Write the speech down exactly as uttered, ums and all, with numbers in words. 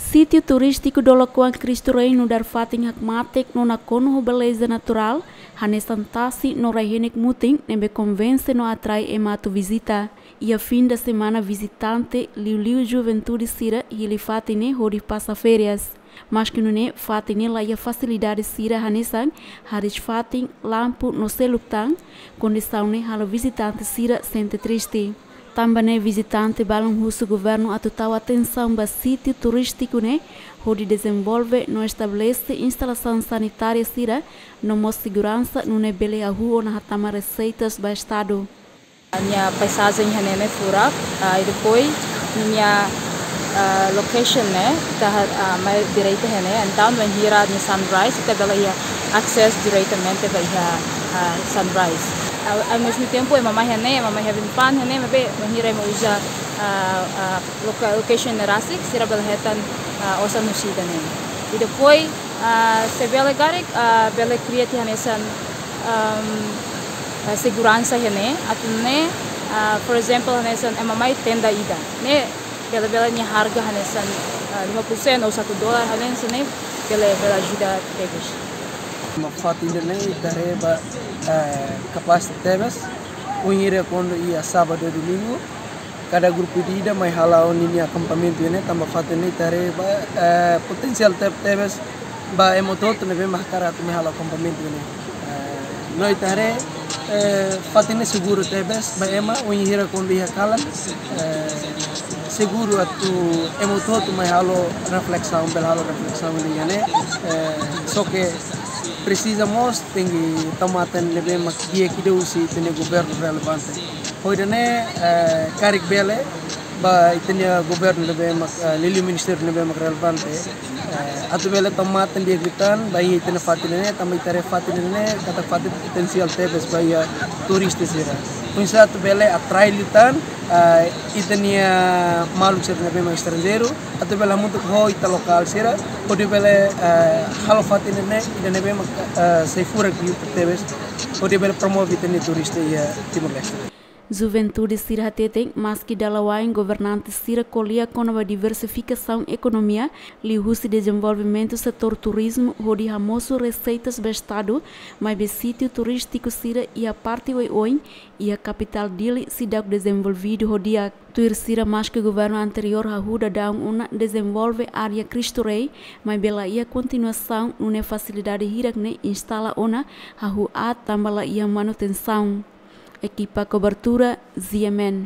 Sítiu turístiku Dolakoan Cristo Rei nu'udar fatin hakmatek no nakonu ho beleza naturál, hanesan tasi no rai-henek mutin ne'ebé konvense no atrai ema atu vizita. Iha fin de semana vizitante liuliu juventude sira hili fatin ne'e hodi pasa férias. Maski nune'e fatin ne'e laiha fasilidade sira hanesan hariis fatin, lampu no seluk tan, kondisaun ne'e halo vizitante sira sente triste. Tanba ne'e vizitante balun husu governu atu tau atensaun ba sítiu turístiku ne'e hodi dezenvolve no estabelese instalasaun sanitária sira no mós seguransa nune'e bele hahú ona hatama reseitas ba estadu. Nia paizajen iha ne'e ne'e furak, ah, i depois nia, ah, location ne'e ita, ah, mai direita iha ne'e, entaun bainhira nia sunrise ita bele iha access diretamente ba iha, ah, sunrise. Ao, ao mesmo tempo, ema mai iha ne'e, ema mai having fun iha ne'e, maibé bainhira ema uza, ah, ah, loca-, location ne'e rasik, sira bele hetan, ah, osan husi ida-ne'e. I depois, ah, se bele karik, ah, bele kria tiha hanesan, ahm, ah, seguransa iha ne'e, atu nune'e, ah, for example, hanesan ema mai tenda ida. Ne'e bele, bele nia harga hanesan, ah, lima puluh sen ou satu dolar hanesan ne'e, bele, bele ajuda tebes. Ema fatin ida-ne'e ita haree ba, eh, kapás tebes, bainhira kuandu iha sábadu, domingu, kada grupu ida-ida mai hala'o ninia akampamentu iha ne'e, tanba fatin ne'e ita haree ba, eh, potensiál te-, tebes ba ema hotu-hotu ne'ebé mak hakarak atu mai hala'o akampamentu iha ne'e. Eh, no ita haree, eh, fatin ne'e seguru tebes ba ema, bainhira kuandu iha kalan, eh, seguru atu ema hotu-hotu mai halo reflesaun, bele halo reflesaun iha ne'e. Eh, só ke presiza mós tenke tau matan ne'ebé mak di'ak ida husi ita-nia governu relevante. Ho ida-ne'e, eh, karik bele, ba ita-nia governu ne'ebé mak, eh, liuliu ministériu ne'ebé mak relevante, eh, atu bele tau matan di'ak liután ba iha ita-nia fatin ne'e, tanba ita haree fatin ne'e katak fatin potensiál tebes ba iha turista sira. Oinsá atu bele atrai liután, eh, ita-nia maluk sira ne'ebé mak estranjeiru, atu bele hamutuk ho ita lokál sira, hodi bele, eh, halo fatin ne'e ida ne'ebé mak, eh, sai furak liután tebes, hodi bele promove ita-nia turista iha Timor-Leste. Juventude sira hateten, maski dala wa'in governante sira ko'alia kona-ba diversifikasaun ekonomia, liuhusi dezenvolvimentu setór turizmu hodi hamosu reseitas ba estadu, maibé sítiu turístiku sira iha parte oioin iha kapitál Dili seidauk dezenvolvidu ho di'ak. Tuir sira, maski governu anteriór hahú daudaun ona dezenvolve área Cristo Rei, maibé laiha kontinuasaun, nune'e fasilidade hirak ne'e instala ona hahú aat tanba laiha manutensaun. Ekipa kobertura, Z M N.